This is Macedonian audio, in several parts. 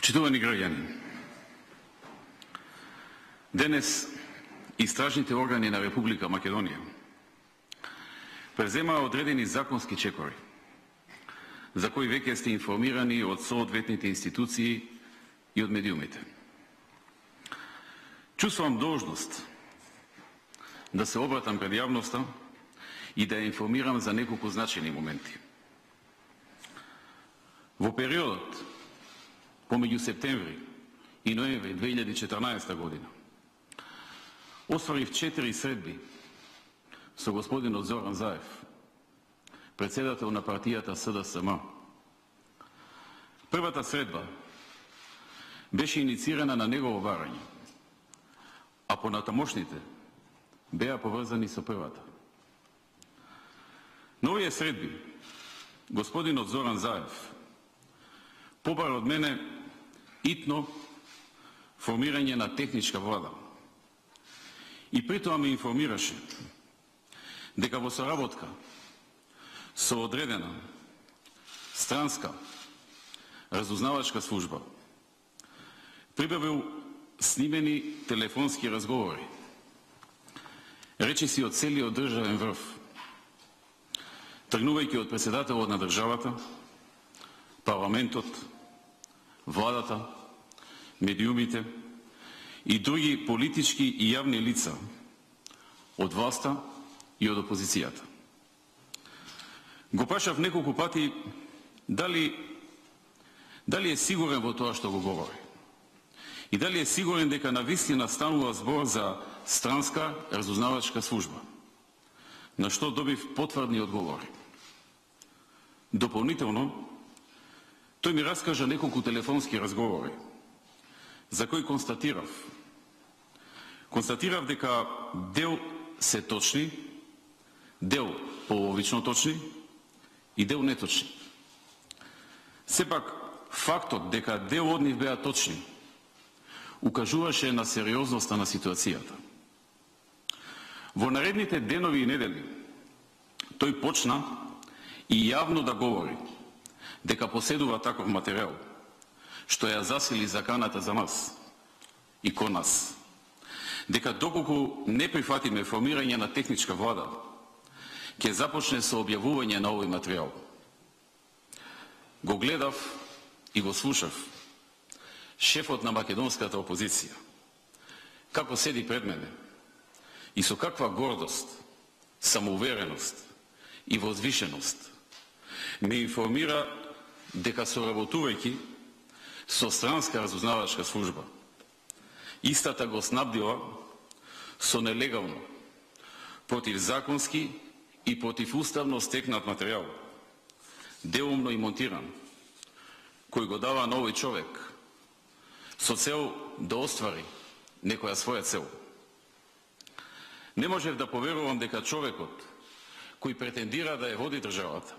Почитувани граѓани, денес истражните органи на Република Македонија преземаа одредени законски чекори, за кои веќе сте информирани од соодветните институции и од медиумите. Чувствувам должност да се обратам пред јавноста и да ја информирам за неколку значајни моменти. Во периодот помеѓу септември и ноември 2014 година остварив 4 средби со господинот Зоран Заев, председател на партијата СДСМ. Првата средба беше иницирана на негово барање, а понатамошните беа поврзани со првата. На овие средби господинот Зоран Заев побара од мене итно формирање на техничка влада и притоа ме информираше дека во соработка со одредена странска разузнавачка служба прибавил снимени телефонски разговори, речиси од целиот државен врв, тргнувајќи од председателот на државата, парламентот, владата, медиумите и други политички и јавни лица од власта и од опозицијата. Го прашав неколку пати дали е сигурен во тоа што го говори и дали е сигурен дека навистина станува збор за странска разузнавачка служба, на што добив потврдни одговори. Дополнително, тој ми раскажа неколку телефонски разговори, за кои констатирав дека дел се точни, дел половично точни и дел неточни. Сепак, фактот дека дел од нив беа точни укажуваше на сериозноста на ситуацијата. Во наредните денови и недели тој почна и јавно да говори дека поседува таков материјал, што ја засили заканата за нас и кон нас, дека доколку не прифатиме формирање на техничка влада, ќе започне со објавување на овој материјал. Го гледав и го слушав шефот на македонската опозиција, како седи пред мене и со каква гордост, самоувереност и возвишеност ме информира дека соработувајќи со странска разузнавачка служба, истата го снабдила со нелегално, противзаконски и противуставно стекнат материјал, делумно и монтиран, кој го дава на овој човек со цел да оствари некоја своја цел. Не можев да поверувам дека човекот кој претендира да ја води државата,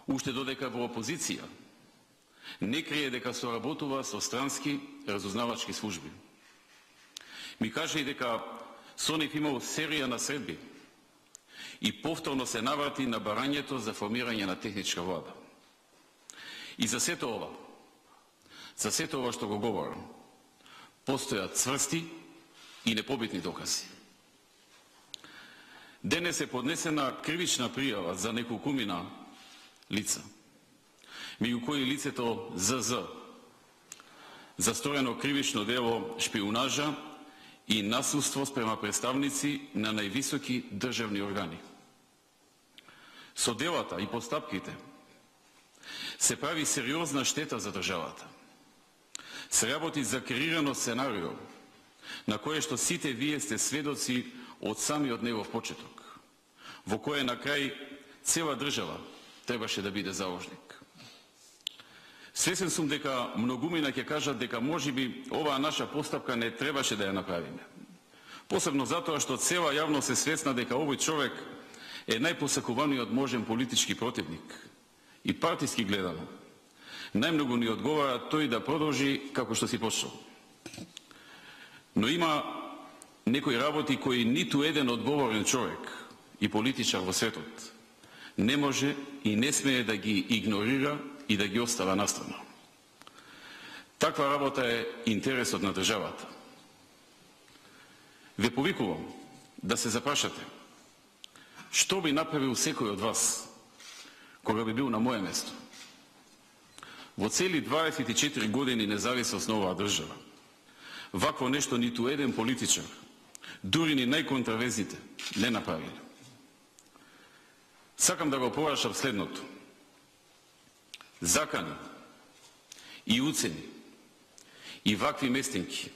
уште додека во опозиција, не крие дека соработува со странски разузнавачки служби. Ми кажа и дека со нив имал серија на средби и повторно се наврати на барањето за формирање на техничка влада. И за сето ова што го говорам, постојат цврсти и непобитни докази. Денес е поднесена кривична пријава за неколкумина лица, меѓу кои лицето ЗЗ, за сторено кривично дело шпиунажа и насилство спрема представници на највисоки државни органи. Со делата и постапките се прави сериозна штета за државата. Се работи за креирано сценарио, на кое што сите вие сте сведоци од самиот негов почеток, во кое на крај цела држава требаше да биде заложник. Свесен сум дека многумина ќе кажат дека можеби оваа наша постапка не требаше да ја направиме. Посебно затоа што цела јавност е свесна дека овој човек е најпосакуваниот можен политички противник и партиски гледано. Најмногу ни одговара тој да продолжи како што си почнал. Но има некои работи кои ниту еден одговорен човек и политичар во светот не може и не смее да ги игнорира и да ги остава настрана. Таква работа е интересот на државата. Ве повикувам да се запрашате што би направил секој од вас кога би бил на моје место. Во цели 24 години независност на оваа држава, вакво нешто ниту еден политичар, дури ни најконтравезните, не направиле. Сакам да го порашам следното. Закани и уцени и вакви местинки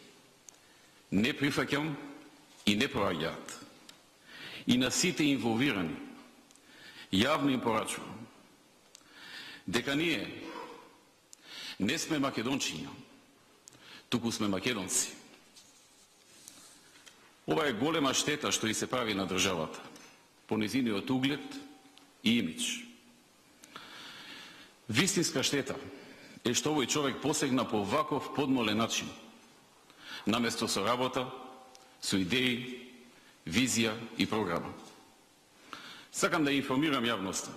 не прифаќам и не проаѓаат. И на сите инволвирани јавно им порачувам дека ние не сме македончиња, туку сме македонци. Ова е голема штета што и се прави на државата, по незиниот углед и имидж. Вистинска штета е што овој човек посегна по ваков подмолен начин, наместо со работа, со идеи, визија и програма. Сакам да информирам јавноста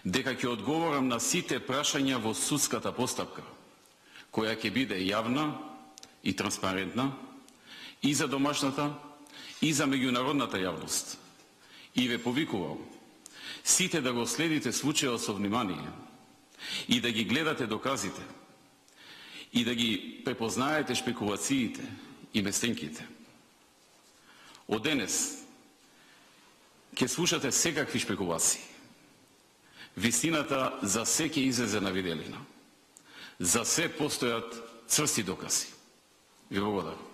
дека ќе одговорам на сите прашања во судската постапка, која ќе биде јавна и транспарентна и за домашната и за меѓународната јавност. И ве повикувам сите да го следите случајот со внимание и да ги гледате доказите и да ги препознаете шпекулациите и местенките. Од денес ќе слушате секакви шпекулации. Вистината за се ќе излезе на виделина. За се постојат црсти докази. Ви благодарам.